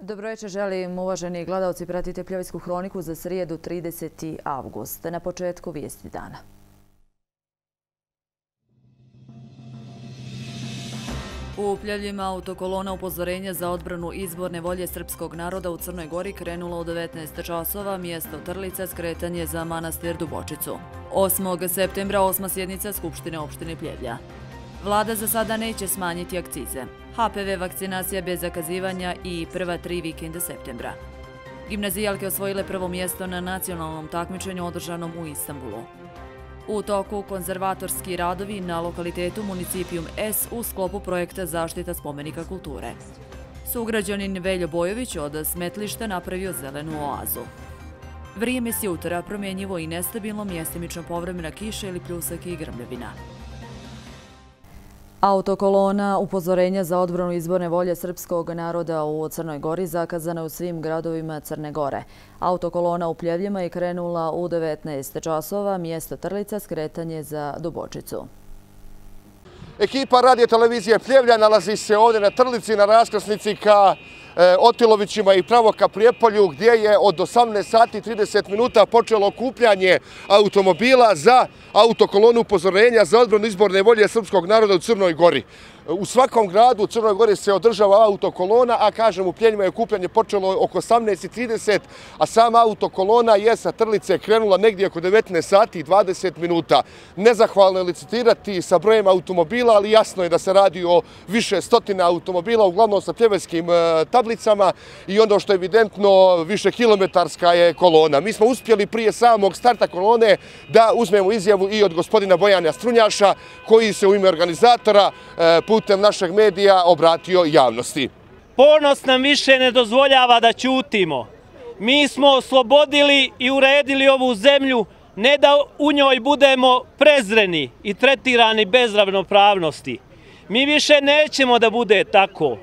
Dobro večer, želim uvaženi gledalci, pratite Pljevljsku hroniku za srijedu 30. avgust. Na početku vijesti dana. U Pljevljima autokolona upozorenja za odbranu izborne volje srpskog naroda u Crnoj Gori krenula u 19 časova, mjesto Trlica, skretanje za manastir Dubočicu. 8. septembra 8. sjednica Skupštine opštine Pljevlja. Vlada za sada neće smanjiti akcize. HPV vakcinacija bez zakazivanja i prva 3 vikenda septembra. Gimnazijalke osvojile prvo mjesto na nacionalnom takmičenju održanom u Istanbulu. U toku konzervatorski radovi na lokalitetu Municipijum S u sklopu projekta Zaštita spomenika kulture. Sugrađanin Veljo Bojović od smetlišta napravio zelenu oazu. Vrijeme s jutra promjenjivo i nestabilno, mjestimično povremena kiša ili pljusak i grmljavina. Autokolona upozorenja za odbranu izborne volje srpskog naroda u Crnoj Gori zakazana je u svim gradovima Crne Gore. Autokolona u Pljevljima je krenula u 19 časova, mjesto Trlica, skretanje za Dubočicu. Ekipa radio televizije Pljevlja nalazi se ovdje na Trlici, na raskrsnici ka Otilovićima i pravo ka Prijepolju, gdje je od 18:30 počelo okupljanje automobila za autokolonu upozorenja za odbranu izborne volje srpskog naroda u Crnoj Gori. U svakom gradu u Crnoj Gori se održava autokolona, a kažem u Pljevljima je okupljanje počelo oko 18:30, a sama autokolona je sa Trlice krenula negdje oko 19:20. Nezahvalno je licitirati sa brojem automobila, ali jasno je da se radi o više stotina automobila, uglavnom sa pljevljskim tablicama, i ono što je evidentno više kilometarska je kolona. Mi smo uspjeli prije samog starta kolone da uzmemo izjavu i od gospodina Bojana Strunjaša, koji se u ime organizatora putem našeg medija obratio javnosti. Ponos nam više ne dozvoljava da ćutimo. Mi smo oslobodili i uredili ovu zemlju, ne da u njoj budemo prezreni i tretirani bez ravnopravnosti. Mi više nećemo da bude tako.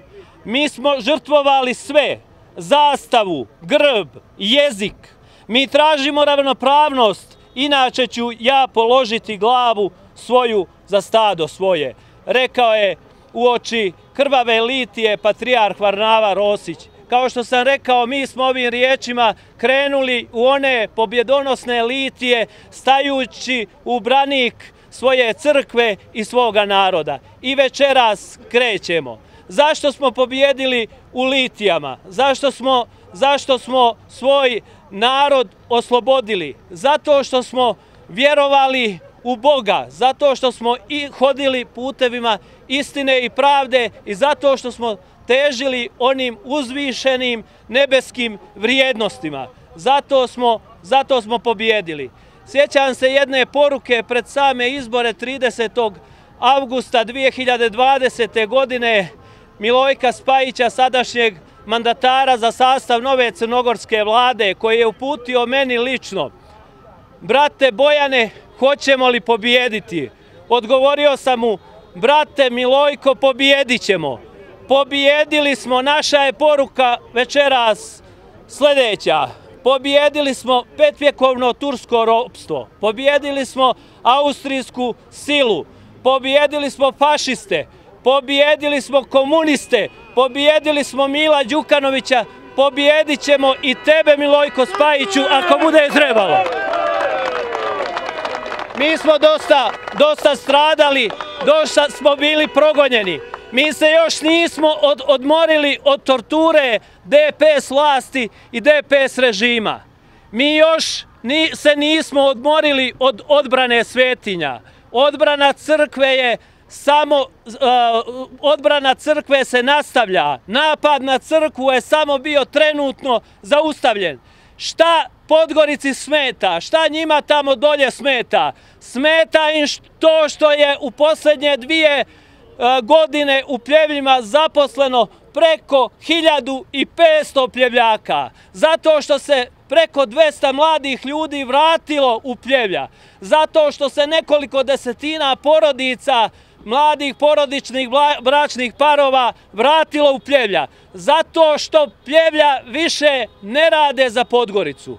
Mi smo žrtvovali sve, zastavu, grb, jezik. Mi tražimo ravnopravnost, inače ću ja položiti glavu svoju za stado svoje. Rekao je uoči krvave litije patrijarh Varnava Rosić. Kao što sam rekao, mi smo ovim riječima krenuli u one pobjedonosne litije, stajući u branik svoje crkve i svoga naroda. I večeras krećemo. Zašto smo pobjedili u litijama? Zašto smo svoj narod oslobodili? Zato što smo vjerovali u Boga, zato što smo i hodili putevima istine i pravde i zato što smo težili onim uzvišenim nebeskim vrijednostima. Zato smo pobjedili. Sjećam se jedne poruke pred same izbore 30. avgusta 2020. godine Milojka Spajića, sadašnjeg mandatara za sastav nove crnogorske vlade, koji je uputio meni lično: brate Bojane, hoćemo li pobijediti? Odgovorio sam mu: brate Milojko, pobijedit ćemo. Pobijedili smo, naša je poruka večeras sljedeća. Pobijedili smo petvjekovno tursko ropstvo, pobijedili smo austrijsku silu, pobijedili smo fašiste, pobijedili smo komuniste, pobijedili smo Mila Đukanovića, pobijedit ćemo i tebe, Milojko Spajiću, ako bude trebalo. Mi smo dosta stradali, dosta smo bili progonjeni. Mi se još nismo odmorili od torture DPS vlasti i DPS režima. Mi još se nismo odmorili od odbrane svetinja. Odbrana crkve se nastavlja. Napad na crkvu je samo bio trenutno zaustavljen. Šta Podgorici smeta? Šta njima tamo dolje smeta? Smeta im to što je u posljednje 2 godine u Pljevljima zaposleno preko 1500 Pljevljaka. Zato što se preko 200 mladih ljudi vratilo u Pljevlja. Zato što se nekoliko desetina porodica, mladih porodičnih bračnih parova vratilo u Pljevlja. Zato što Pljevlja više ne rade za Podgoricu.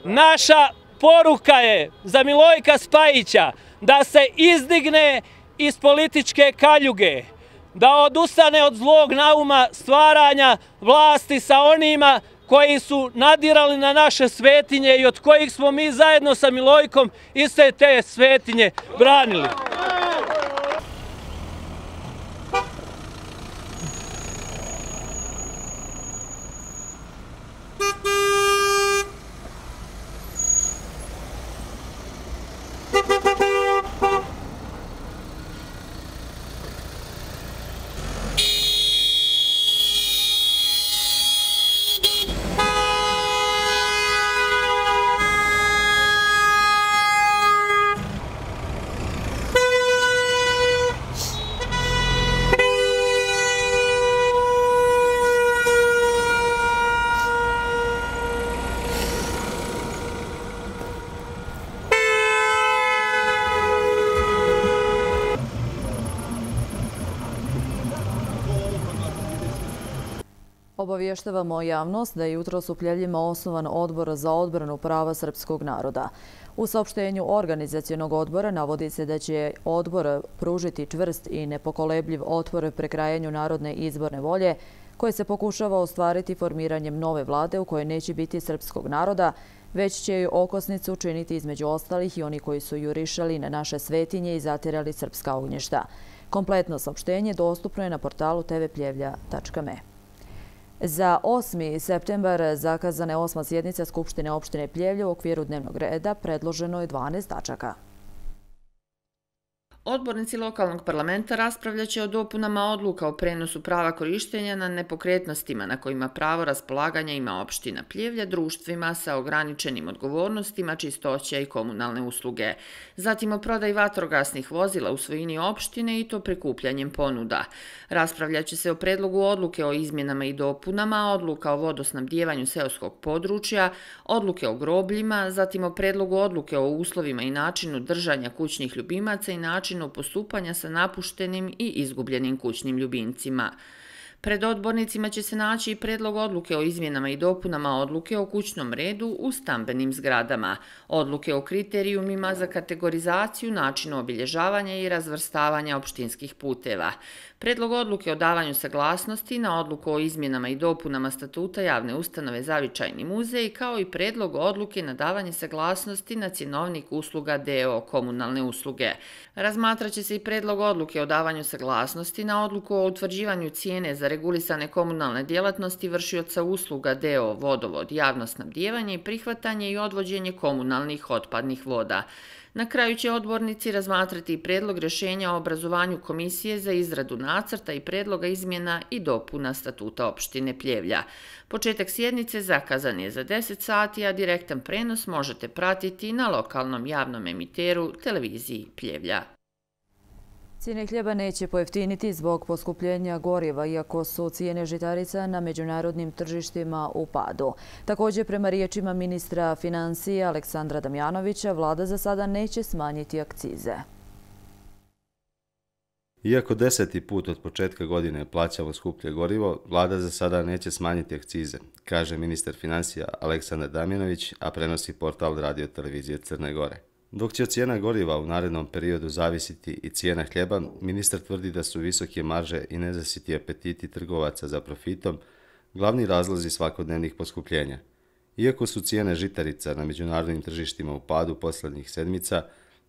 Naša poruka je za Milojka Spajića da se izdigne iz političke kaljuge. da odustane od zlog nauma stvaranja vlasti sa onima koji su nadirali na naše svetinje i od kojih smo mi zajedno sa Milojkom iste te svetinje branili. Obavještavamo javnost da je jutros u Pljevljima osnovan Odbor za odbranu prava srpskog naroda. U saopštenju organizacionog odbora navodi se da će odbor pružiti čvrst i nepokolebljiv otpor prekrajanju narodne izborne volje koje se pokušava ostvariti formiranjem nove vlade u kojoj neće biti srpskog naroda, već će joj okosnicu učiniti između ostalih i oni koji su jurišali na naše svetinje i zatirali srpska ognjišta. Kompletno saopštenje dostupno je na portalu tvpljevlja.me. Za 8. septembar zakazana je 8. sjednica Skupštine opštine Pljevlje. U okviru dnevnog reda predloženo je 12 tačaka. Odbornici lokalnog parlamenta raspravljaće o dopunama odluka o prenosu prava korištenja na nepokretnostima na kojima pravo raspolaganja ima opština Pljevlja društvima sa ograničenim odgovornostima, čistoća i komunalne usluge. Zatim o prodaji vatrogasnih vozila u svojini opštine i to prikupljanjem ponuda. Raspravljaće se o predlogu odluke o izmjenama i dopunama, odluka o vodosnabdijevanju seoskog područja, odluke o grobljima, zatim o predlogu odluke o uslovima i načinu držanja kućnih ljubimaca i načinu postupanja sa napuštenim i izgubljenim kućnim ljubimcima. Pred odbornicima će se naći i predlog odluke o izmjenama i dopunama odluke o kućnom redu u stambenim zgradama, odluke o kriterijumima za kategorizaciju, načinu obilježavanja i razvrstavanja opštinskih puteva, predlog odluke o davanju saglasnosti na odluku o izmjenama i dopunama statuta javne ustanove Zavičajni muzej, kao i predlog odluke na davanje saglasnosti na cjenovnik usluga d.o.o. komunalne usluge. Razmatraće se i predlog odluke o davanju saglasnosti na odluku o utvrđivanju cijene za regulisane komunalne djelatnosti vršioca usluga d.o.o. vodovod, javno snabdijevanje i prihvatanje i odvođenje komunalnih otpadnih voda. Na kraju će odbornici razmatrati i predlog rješenja o obrazovanju komisije za izradu nacrta i predloga izmjena i dopuna statuta opštine Pljevlja. Početak sjednice zakazan je za 10 sati, a direktan prenos možete pratiti na lokalnom javnom emiteru televiziji Pljevlja. Cijene hljeba neće pojeftiniti zbog poskupljenja goriva, iako su cijene žitarica na međunarodnim tržištima u padu. Također, prema riječima ministra financija Aleksandra Damjanovića, vlada za sada neće smanjiti akcize. Iako 10. put od početka godine plaćamo skuplje gorivo, vlada za sada neće smanjiti akcize, kaže ministar financija Aleksandar Damjanović, a prenosi portal Radio televizije Crne Gore. Dok će cijena goriva u narednom periodu zavisiti i cijena hljeba, ministar tvrdi da su visoke marže i nezasiti apetiti trgovaca za profitom glavni razlozi svakodnevnih poskupljenja. Iako su cijene žitarica na međunarodnim tržištima u padu posljednjih sedmica,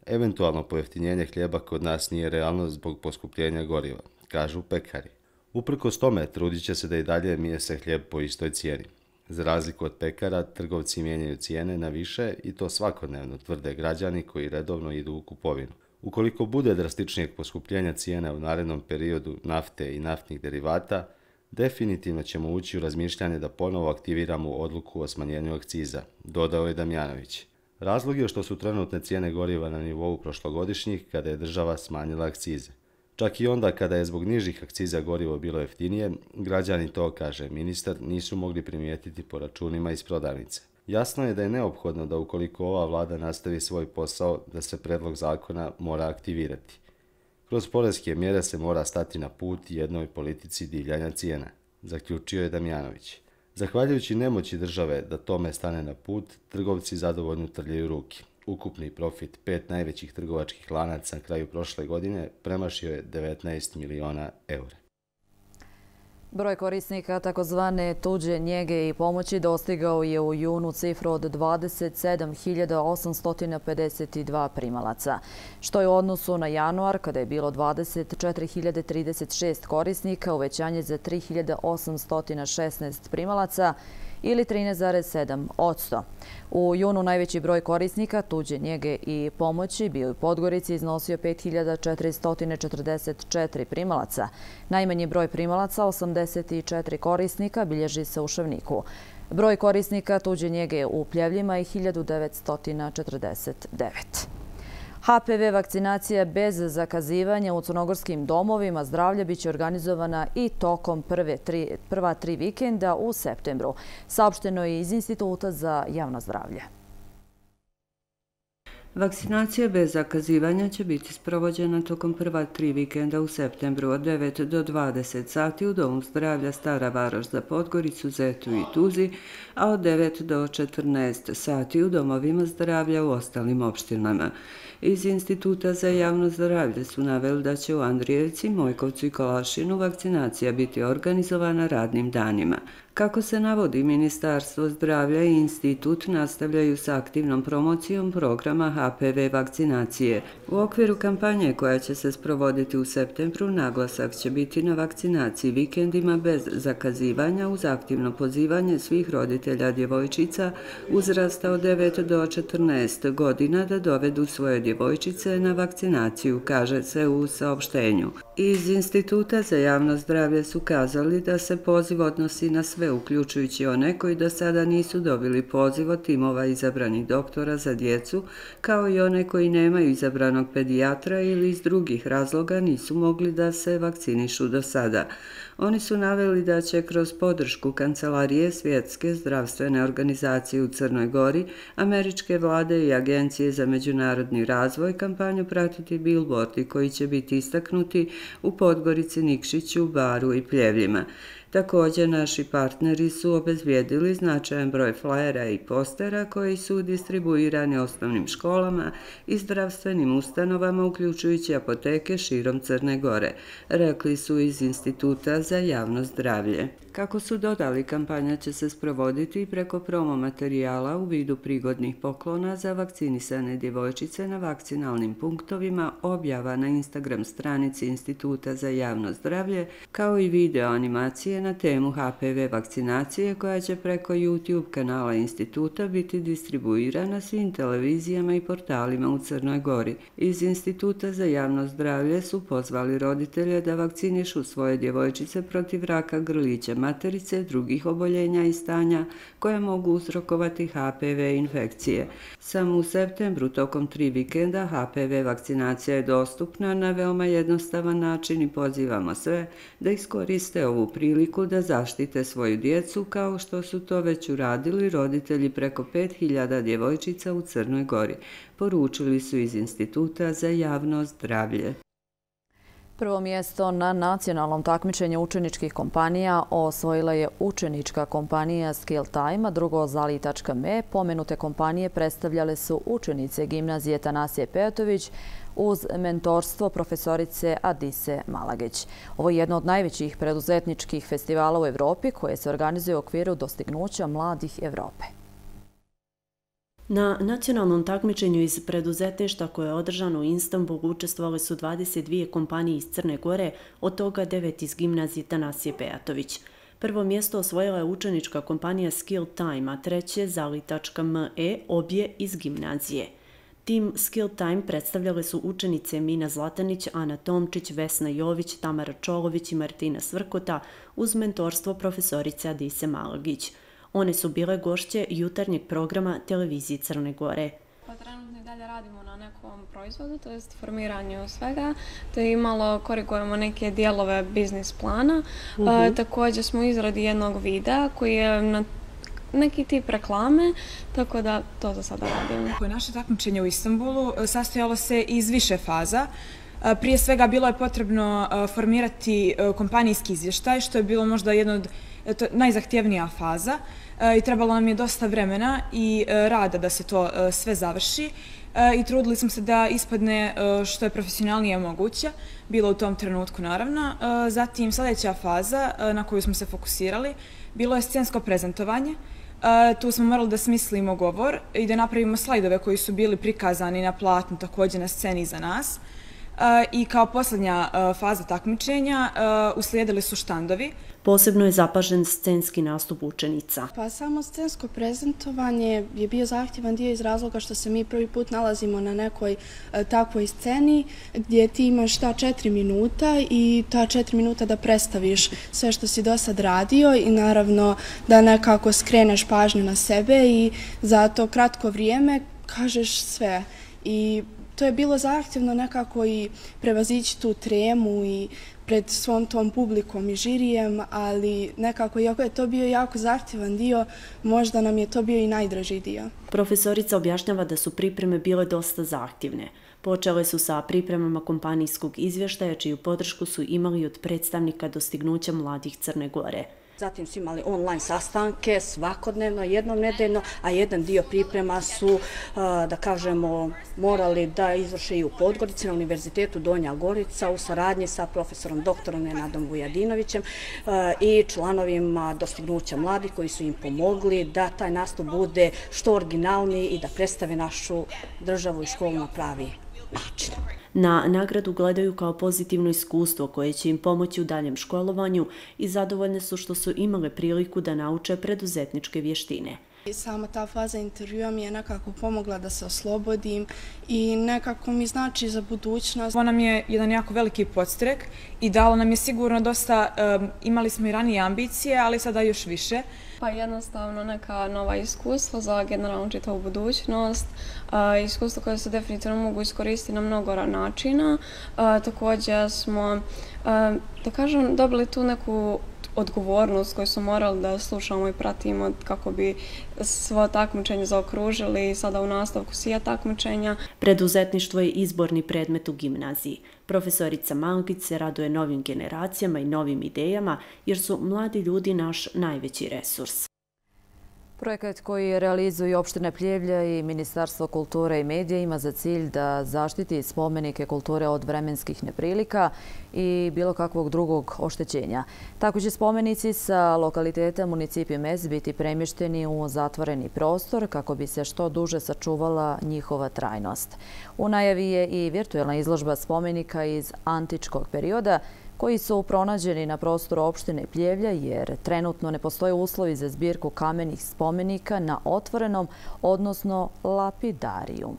eventualno pojeftinjenje hljeba kod nas nije realno zbog poskupljenja goriva, kažu pekari. Uprkos tome, trudit će se da i dalje mjese hljeb po istoj cijeni. Za razliku od pekara, trgovci mijenjaju cijene na više i to svakodnevno, tvrde građani koji redovno idu u kupovinu. Ukoliko bude drastičnijeg poskupljenja cijena u narednom periodu nafte i naftnih derivata, definitivno ćemo ući u razmišljanje da ponovo aktiviramo odluku o smanjenju akciza, dodao je Damjanović. Razlog je što su trenutne cijene goriva na nivou prošlogodišnjih kada je država smanjila akcize. Čak i onda kada je zbog nižih akciza gorivo bilo jeftinije, građani to, kaže ministar, nisu mogli primijetiti po računima iz prodavnice. Jasno je da je neophodno da ukoliko ova vlada nastavi svoj posao, da se predlog zakona mora aktivirati. Kroz poreske mjere se mora stati na put jednoj politici divljanja cijena, zaključio je Damjanović. Zahvaljujući nemoći države da tome stane na put, trgovci zadovoljno trljaju ruke. Ukupni profit 5 najvećih trgovačkih lanaca na kraju prošle godine premašio je 19 miliona eura. Broj korisnika takozvane tuđe njege i pomoći dostigao je u junu cifru od 27.852 primalaca, što je u odnosu na januar, kada je bilo 24.036 korisnika, uvećanje za 3.816 primalaca ili 13,7%. U junu najveći broj korisnika tuđe njege i pomoći bio u Podgorici iznosio 5.444 primalaca. Najmanji broj primalaca, 84 korisnika, bilježi se u Šavniku. Broj korisnika tuđe njege u Pljevljima je 1949. HPV vakcinacija bez zakazivanja u crnogorskim domovima zdravlja biće organizovana i tokom prva tri vikenda u septembru, saopšteno je iz Instituta za javno zdravlje. Vakcinacija bez zakazivanja će biti sprovođena tokom prva 3 vikenda u septembru od 9 do 20 sati u Domu zdravlja Stara Varoš za Podgoricu, Zetu i Tuzi, a od 9 do 14 sati u domovima zdravlja u ostalim opštinama. Iz Instituta za javno zdravlje su naveli da će u Andrijevci, Mojkovcu i Kolašinu vakcinacija biti organizovana radnim danima. Kako se navodi, Ministarstvo zdravlja i institut nastavljaju sa aktivnom promocijom programa HPV vakcinacije. U okviru kampanje koja će se sprovoditi u septembru, naglasak će biti na vakcinaciji vikendima bez zakazivanja uz aktivno pozivanje svih roditelja djevojčica uzrasta od 9 do 14 godina da dovedu svoje djevojčice na vakcinaciju, kaže se u saopštenju. Iz Instituta za javno zdravlje su kazali da se poziv odnosi na sve, uključujući one koji do sada nisu dobili poziv od timova izabranih doktora za djecu, kao i one koji nemaju izabranog pedijatra ili iz drugih razloga nisu mogli da se vakcinišu do sada. Oni su naveli da će kroz podršku Kancelarije Svjetske zdravstvene organizacije u Crnoj Gori, američke vlade i Agencije za međunarodni razvoj kampanju pratiti bilbordi koji će biti istaknuti u Podgorici, Nikšiću, Baru i Pljevljima. Također, naši partneri su obezbijedili značajan broj flajera i postera koji su distribuirani osnovnim školama i zdravstvenim ustanovama, uključujući apoteke širom Crne Gore, rekli su iz Instituta za javno zdravlje. Kako su dodali, kampanja će se sprovoditi preko promo materijala u vidu prigodnih poklona za vakcinisane djevojčice na vakcinalnim punktovima, objava na Instagram stranici Instituta za javno zdravlje, kao i video animacije na temu HPV vakcinacije koja će preko YouTube kanala instituta biti distribuirana svim televizijama i portalima u Crnoj Gori. Iz Instituta za javno zdravlje su pozvali roditelje da vakcinišu svoje djevojčice protiv raka grlića materice, drugih oboljenja i stanja koja mogu uzrokovati HPV infekcije. Samo u septembru tokom 3 vikenda HPV vakcinacija je dostupna na veoma jednostavan način i pozivamo sve da iskoriste ovu priliku da zaštite svoju djecu kao što su to već uradili roditelji preko 5000 djevojčica u Crnoj Gori, poručili su iz Instituta za javno zdravlje. Prvo mjesto na nacionalnom takmičenju učeničkih kompanija osvojila je učenička kompanija Skill Time, a drugo Zali.me. Pomenute kompanije predstavljale su učenice gimnazije Tanasije Pejatović uz mentorstvo profesorice Adise Malagić. Ovo je jedno od najvećih preduzetničkih festivala u Evropi koje se organizuje u okviru dostignuća mladih Evrope. Na nacionalnom takmičenju iz preduzetništva koje je održano u Istanbulu učestvovale su 22 kompanije iz Crne Gore, od toga 9 iz gimnazije Tanasije Pejatović. Prvo mjesto osvojila je učenička kompanija Skill Time, a treće Zali.me, obje iz gimnazije. Tim Skill Time predstavljale su učenice Mina Zlatanić, Ana Tomčić, Vesna Jović, Tamara Čolović i Martina Svrkota uz mentorstvo profesorice Adise Malagić. One su bile gošće jutarnjeg programa televizije Crne Gore. Trenutno i dalje radimo na nekom proizvodu, to jest formiranju svega, te i malo korigujemo neke dijelove biznis plana. Također smo u izradi jednog videa koji je na neki tip reklame, tako da to za sada radimo. Naše takmičenje u Istanbulu sastojalo se iz više faza. Prije svega bilo je potrebno formirati kompanijski izvještaj, što je bilo možda jedna od najzahtjevnija faza i trebalo nam je dosta vremena i rada da se to sve završi i trudili smo se da ispadne što je profesionalnije moguće, bilo u tom trenutku naravno. Zatim sljedeća faza na koju smo se fokusirali bilo je scensko prezentovanje. Tu smo morali da smislimo govor i da napravimo slajdove koji su bili prikazani na platnu, također na sceni iza nas. I kao posljednja faza takmičenja uslijedili su štandovi. Posebno je zapažen scenski nastup učenica. Pa samo scensko prezentovanje je bio zahtjevan dio iz razloga što se mi prvi put nalazimo na nekoj takvoj sceni gdje ti imaš ta 4 minuta i ta 4 minuta da predstaviš sve što si do sad radio i naravno da nekako skreneš pažnju na sebe i za to kratko vrijeme kažeš sve. I to je bilo zahtjevno nekako i prevazići tu tremu i pred svom tom publikom i žirijem, ali nekako, iako je to bio jako zahtjevan dio, možda nam je to bio i najdraži dio. Profesorica objašnjava da su pripreme bile dosta zahtjevne. Počele su sa pripremama kompanijskog izvještaja, čiju podršku su imali od predstavnika dostignuća mladih Crne Gore. Zatim su imali online sastanke svakodnevno, jednom nedeljno, a jedan dio priprema su, da kažemo, morali da izvrše i u Podgorici na Univerzitetu Donja Gorica u saradnji sa profesorom doktorom Nenadom Vujadinovićem i članovima dostignuća mladih koji su im pomogli da taj nastup bude što originalniji i da predstave našu državu i školu na pravi način. Na nagradu gledaju kao pozitivno iskustvo koje će im pomoći u daljem školovanju i zadovoljne su što su imale priliku da nauče preduzetničke vještine. Sama ta faza intervjua mi je nekako pomogla da se oslobodim i nekako mi znači za budućnost. Ovo nam je jedan jako veliki podstrek i dalo nam je sigurno dosta, imali smo i ranije ambicije, ali sada još više. Pa jednostavno neka nova iskustva za generalno čitavu budućnost, iskustva koje se definitivno mogu iskoristiti na mnogo načina. Također smo, da kažem, dobili tu neku odgovornost koju smo morali da slušamo i pratimo kako bi svo takmičenje zaokružili i sada u nastavku svija takmičenja. Preduzetništvo je izborni predmet u gimnaziji. Profesorica Malkić se raduje novim generacijama i novim idejama jer su mladi ljudi naš najveći resurs. Projekat koji realizuju opština Pljevlja i Ministarstvo kulture i medija ima za cilj da zaštiti spomenike kulture od vremenskih neprilika i bilo kakvog drugog oštećenja. Tako će spomenici sa lokaliteta Municipio Mes biti premješteni u zatvoreni prostor kako bi se što duže sačuvala njihova trajnost. U najavi je i virtualna izložba spomenika iz antičkog perioda koji su pronađeni na prostoru opštine Pljevlja jer trenutno ne postoje uslovi za zbirku kamenih spomenika na otvorenom, odnosno lapidarijum.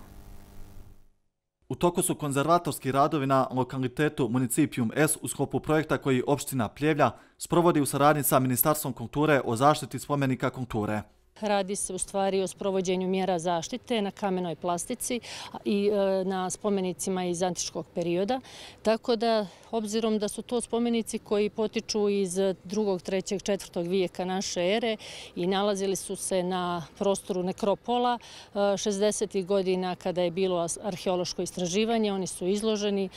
U toku su konzervatorski radovi na lokalitetu Municipium S u sklopu projekta koji opština Pljevlja sprovodi u saradnji sa Ministarstvom kulture o zaštiti spomenika kulture. Radi se u stvari o sprovođenju mjera zaštite na kamenoj plastici i na spomenicima iz antičkog perioda. Tako da, obzirom da su to spomenici koji potiču iz 2., 3., 4. vijeka naše ere i nalazili su se na prostoru nekropola 60. godina kada je bilo arheološko istraživanje, oni su izloženi,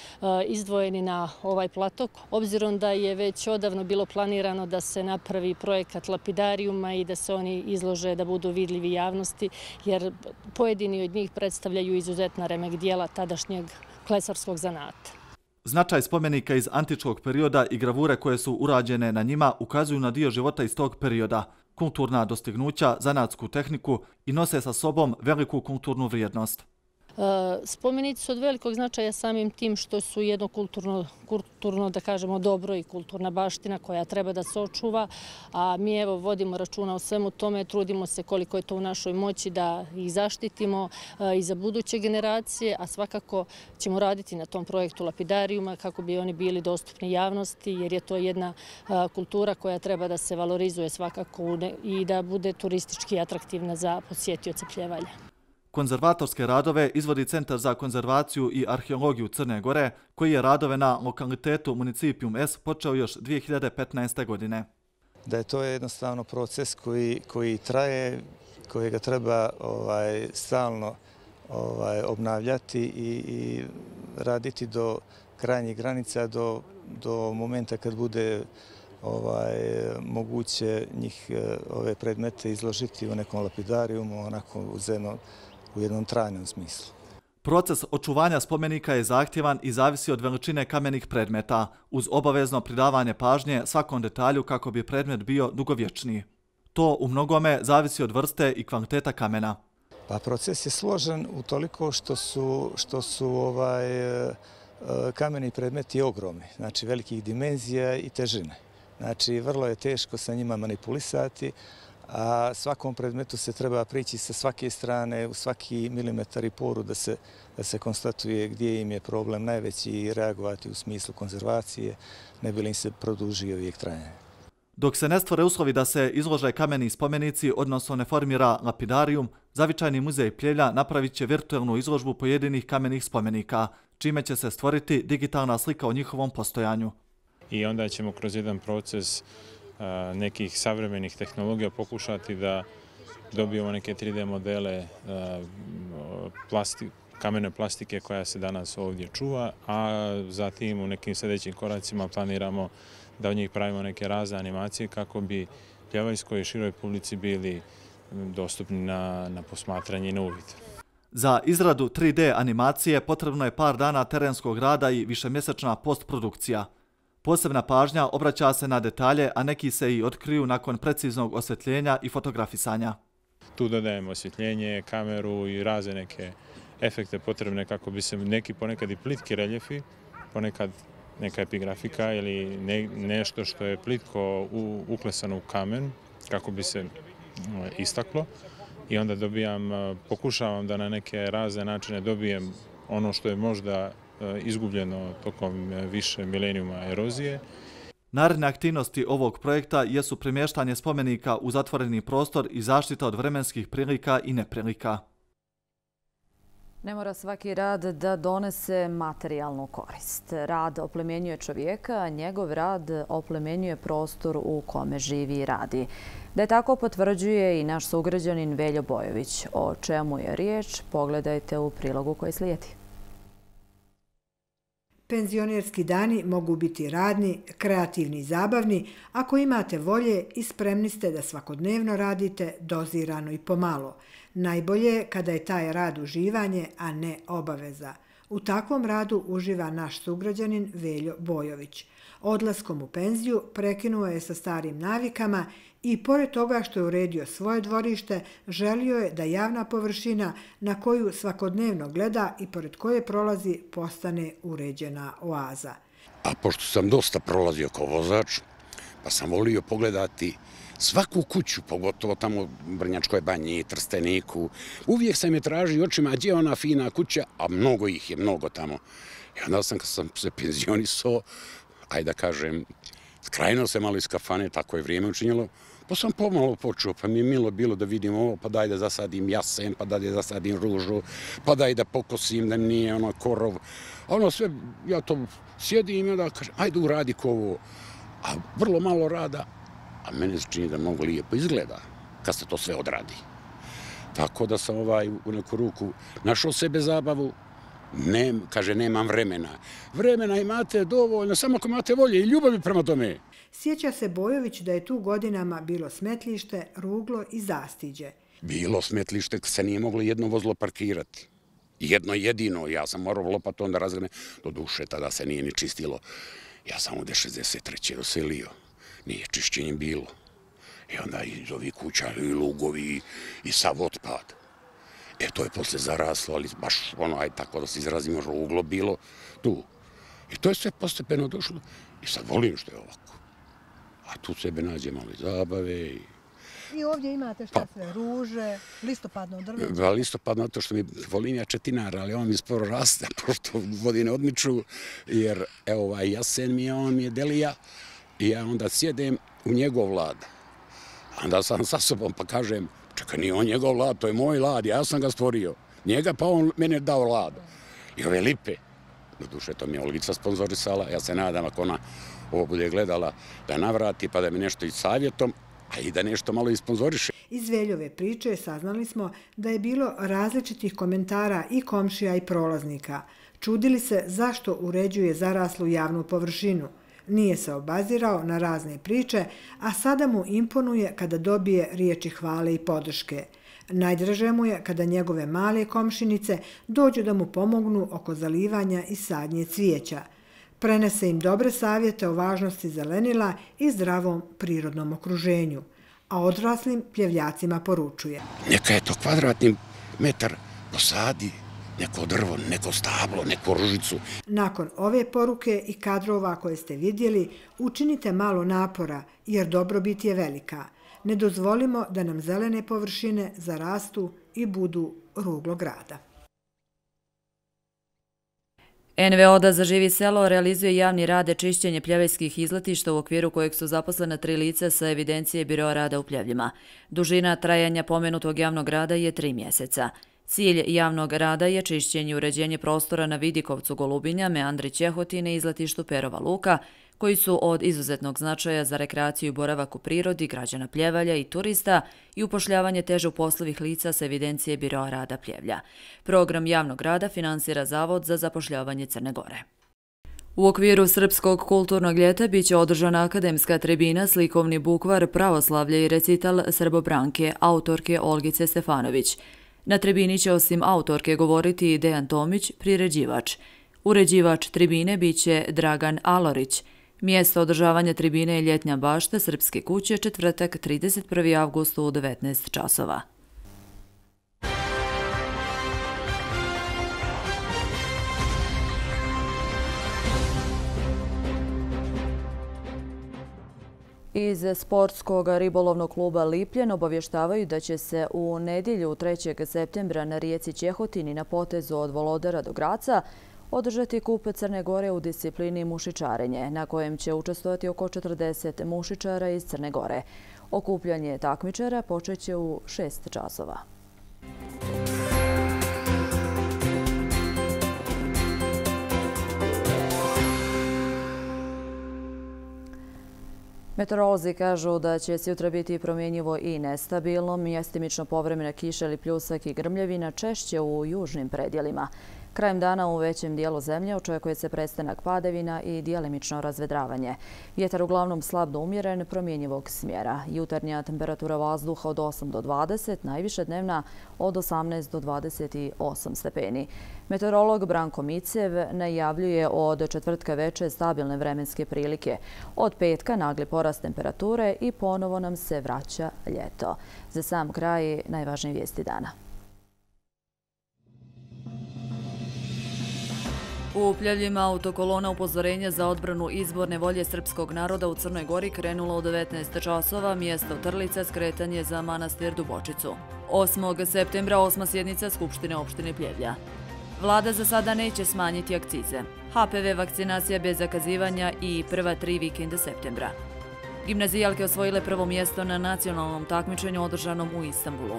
izdvojeni na ovaj platok. Obzirom da je već odavno bilo planirano da se napravi projekat lapidarijuma i da se oni izlože da budu vidljivi javnosti, jer pojedini od njih predstavljaju izuzetna remek dijela tadašnjeg klesarskog zanata. Značaj spomenika iz antičkog perioda i gravure koje su urađene na njima ukazuju na dio života iz tog perioda, kulturna dostignuća, zanatsku tehniku i nose sa sobom veliku kulturnu vrijednost. Spomenici su od velikog značaja samim tim što su jedno kulturno, da kažemo, dobro i kulturna baština koja treba da se očuva, a mi evo vodimo računa o svemu tome, trudimo se koliko je to u našoj moći da ih zaštitimo i za buduće generacije, a svakako ćemo raditi na tom projektu lapidarijuma kako bi oni bili dostupni javnosti, jer je to jedna kultura koja treba da se valorizuje svakako i da bude turistički atraktivna za posjetioce Pljevalja. Konzervatorske radove izvodi Centar za konzervaciju i arheologiju Crne Gore, koji je radove na lokalitetu Municipium S počeo još 2015. godine. Da je to jednostavno proces koji traje, kojega treba stalno obnavljati i raditi krajnjih granica do momenta kad bude moguće njih ove predmete izložiti u nekom lapidarijumu, onako u jednom trajnom smislu. Proces očuvanja spomenika je zahtjevan i zavisi od veličine kamenih predmeta, uz obavezno pridavanje pažnje svakom detalju kako bi predmet bio dugovječniji. To u mnogome zavisi od vrste i kvaliteta kamena. Pa proces je složen utoliko što su kameni predmeti ogromni, znači velikih dimenzija i težine. Znači vrlo je teško sa njima manipulisati, a svakom predmetu se treba prići sa svake strane, u svaki milimetar i poru da se konstatuje gdje im je problem najveći i reagovati u smislu konzervacije, ne bi li im se produžio vijek trajanja. Dok se ne stvore uslovi da se izlože kameni spomenici, odnosno ne formira lapidarijum, Zavičajni muzej Pljevlja napravit će virtualnu izložbu pojedinih kamenih spomenika, čime će se stvoriti digitalna slika o njihovom postojanju. I onda ćemo kroz jedan proces nekih savremenih tehnologija pokušati da dobijemo neke 3D modele kamene plastike koja se danas ovdje čuva, a zatim u nekim sljedećim koracima planiramo da od njih pravimo neke razne animacije kako bi pljevaljskoj i široj publici bili dostupni na posmatranje i na uvid. Za izradu 3D animacije potrebno je par dana terenskog rada i višemjesečna postprodukcija. Posebna pažnja obraća se na detalje, a neki se i otkriju nakon preciznog osvjetljenja i fotografisanja. Tu dodajemo osvjetljenje, kameru i razne neke efekte potrebne kako bi se neki ponekad i plitki reljefi, ponekad neka epigrafika ili nešto što je plitko uklesano u kamen kako bi se istaklo. I onda pokušavam da na neke razne načine dobijem ono što je možda izgubljeno tokom više milenijuma erozije. Naredne aktivnosti ovog projekta jesu premještanje spomenika u zatvoreni prostor i zaštita od vremenskih prilika i neprilika. Ne mora svaki rad da donese materijalnu korist. Rad oplemenjuje čovjeka, a njegov rad oplemenjuje prostor u kome živi i radi. Da je tako potvrđuje i naš sugrađanin Veljo Bojović. O čemu je riječ, pogledajte u prilogu koji slijedi. Penzionerski dani mogu biti radni, kreativni i zabavni ako imate volje i spremni ste da svakodnevno radite dozirano i pomalo. Najbolje je kada je taj rad uživanje, a ne obaveza. U takvom radu uživa naš sugrađanin Veljo Bojović. Odlaskom u penziju prekinuo je sa starim navikama i pored toga što je uredio svoje dvorište, želio je da javna površina na koju svakodnevno gleda i pored koje prolazi postane uređena oaza. A pošto sam dosta prolazio kao vozač, pa sam volio pogledati svaku kuću, pogotovo tamo u Brnjačkoj banji, Trsteniku. Uvijek sam je tražio očima, gdje je ona fina kuća, a mnogo ih je, mnogo tamo. I onda sam, kad sam se penzionisao, ajde da kažem, skrajno se malo iz kafane, tako je vrijeme učinjelo, pa sam pomalo počeo, pa mi je milo bilo da vidim ovo, pa daj da zasadim jasen, pa daj da zasadim ružu, pa daj da pokosim, da nije ono korov. Ono sve, ja to sjedim i onda kažem, ajde uradi ko ovo. A vrlo malo rada, a meni se čini da mnogo lijepo izgleda kad se to sve odradi. Tako da sam u neku ruku našao sebe zabavu, kaže nemam vremena. Vremena imate dovoljno, samo ako imate volje i ljubavi prema tome. Sjeća se Bojović da je tu godinama bilo smetlište, ruglo i zastiđe. Bilo smetlište, se nije moglo jedno vozilo parkirati. Jedno jedino, ja sam morao lopatom da razgrne, do duše tada se nije ni čistilo. Ja sam ovdje 63. doselio, nije čišćenjem bilo. I onda iz ovih kuća i lugovi i sav otpad. To je posle zaraslo, ali baš tako da se izrazimo, ruglo bilo tu. I to je sve postepeno došlo i sad volim što je ovako. A tu sebe nađe malo zabave. I ovdje imate šta sve, ruže, listopadno drveće? Listopadno, to što mi volim ja četinar, ali on mi sporo raste, pošto vodi ne odmiču, jer evo jasen mi je, on mi je delija i ja onda sjedem u njegov lad. Onda sam sa sobom pa kažem, čekaj, nije on njegov lad, to je moj lad, ja sam ga stvorio. Njega pa on mene dao lad. I ove lipe, do duše to mi je Olgica sponzorisala, ja se nadam ako ona ovo bude gledala da navrati pa da mi nešto i savjetom, a i da nešto malo isponzoriše. Iz Veljove priče saznali smo da je bilo različitih komentara i komšija i prolaznika. Čudili se zašto uređuje zaraslu javnu površinu. Nije se obazirao na razne priče, a sada mu imponuje kada dobije riječi hvale i podrške. Najdraže mu je kada njegove male komšinice dođu da mu pomognu oko zalivanja i sadnje cvijeća. Prenese im dobre savjete o važnosti zelenila i zdravom prirodnom okruženju, a odraslim pljevljacima poručuje: neka je to kvadratni metar, posadi neko drvo, neko stablo, neku ružicu. Nakon ove poruke i kadrova koje ste vidjeli, učinite malo napora jer dobrobit je velika. Ne dozvolimo da nam zelene površine zarastu i budu ruglo grada. NVO da zaživi selo realizuje javni rade čišćenje pljevljskih izletišta u okviru kojeg su zaposlena 3 lica sa evidencije Biroa rada u Pljevljima. Dužina trajanja pomenutog javnog rada je 3 mjeseca. Cilj javnog rada je čišćenje i uređenje prostora na Vidikovcu Golubinja, Meandri Ćehotine i izletištu Perova Luka, koji su od izuzetnog značaja za rekreaciju i boravak u prirodi građana Pljevalja i turista i upošljavanje teže uposlovih lica sa evidencije Biroa rada Pljevlja. Program javnog rada finansira Zavod za zapošljavanje Crne Gore. U okviru Srpskog kulturnog ljeta biće održana akademska tribina Slikovni bukvar, pravoslavlje i recital Srbobranke, autorke Olgice Stefanović. Na tribini će osim autorke govoriti i Dejan Tomić, priređivač. Uređivač tribine biće Dragan Alorić. Mjesto održavanja tribine je Ljetnja bašta Srpske kuće, četvrtak 31. avgustu u 19 časova. Iz sportskog ribolovnog kluba Lipljen obavještavaju da će se u nedjelju 3. septembra na rijeci Ćehotini na potezu od Volodara do Graca održati kup Crne Gore u disciplini mušičarenje, na kojem će učestvovati oko 40 mušičara iz Crne Gore. Okupljanje takmičara počeće u 6 časova. Meteorolozi kažu da će sutra biti promjenjivo i nestabilno, mjestimično povremena kiša ili pljusak i grmljevina, češće u južnim predjelima. Krajem dana u većem dijelu zemlje očekuje se prestanak padavina i djelimično razvedravanje. Vjetar uglavnom slab do umjeren, promjenjivog smjera. Jutarnja temperatura vazduha od 8 do 20, najviše dnevna od 18 do 28 stepeni. Meteorolog Branko Micev najavljuje od četvrtka veče stabilne vremenske prilike. Od petka nagli porast temperature i ponovo nam se vraća ljeto. Za sam kraj najvažnije vijesti dana. U Pljevljima autokolona upozorenja za odbranu izborne volje srpskog naroda u Crnoj Gori krenula u 19 časova, mjesto Trlica, skretanje za manastir Dubočicu. 8. septembra 8. sjednica Skupštine opštine Pljevlja. Vlada za sada neće smanjiti akcize. HPV vakcinacija bez zakazivanja i prva 3 vikenda septembra. Gimnazijalke osvojile prvo mjesto na nacionalnom takmičenju održanom u Istanbulu.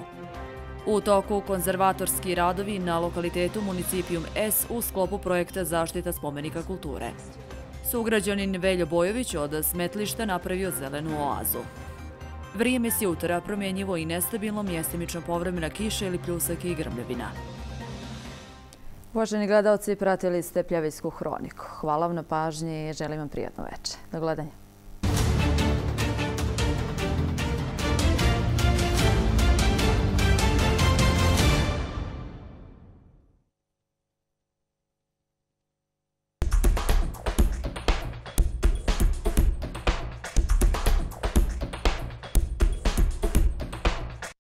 U toku konzervatorski radovi na lokalitetu Municipijum S u sklopu projekta Zaštita spomenika kulture. Sugrađanin Veljo Bojović od smetlišta napravio zelenu oazu. Vrijeme s jutra promjenjivo i nestabilno, mjestimično povremena kiša ili pljusak i grmljevina. Uvaženi gledalci, pratili ste Pljevljsku hroniku. Hvala vam na pažnji i želim vam prijatno večer. Do gledanja.